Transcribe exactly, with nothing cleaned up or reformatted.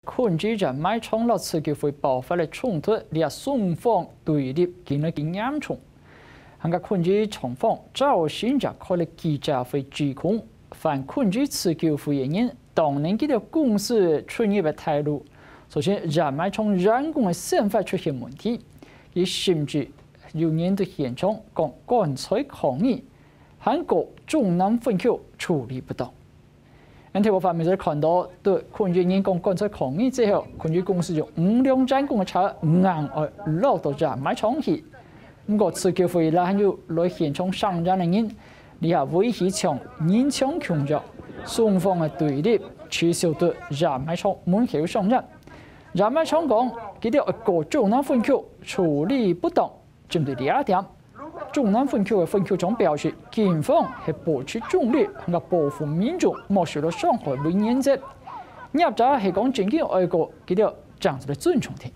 困住熱賣場摎自救會爆發个衝突，這雙方對立緊來緊嚴重。還過困住場方，朝晨也開了記者會指控，犯困住自救會个人，當然佢兜公司出入个態度，造成熱賣場員工个生活出現問題，佢甚至有人對現場講趕出抗議，還告中南分局處理不當。 𫣆頭條畫面就看到，對困住員工趕出抗議之後，困住公司有五輛員工个車硬愛落到熱賣場去。毋過自救會啦，還有來現場聲援个人，這下圍起像人牆共樣，雙方个對立持續到熱賣場門口上演。熱賣場講，佢兜愛告中南分局處理不當，針對這一點， 中南分局个分局長表示，警方係保持中立，還過保護民眾無受到傷害為原則。業者係講正經愛告，佢兜正做得尊重佢。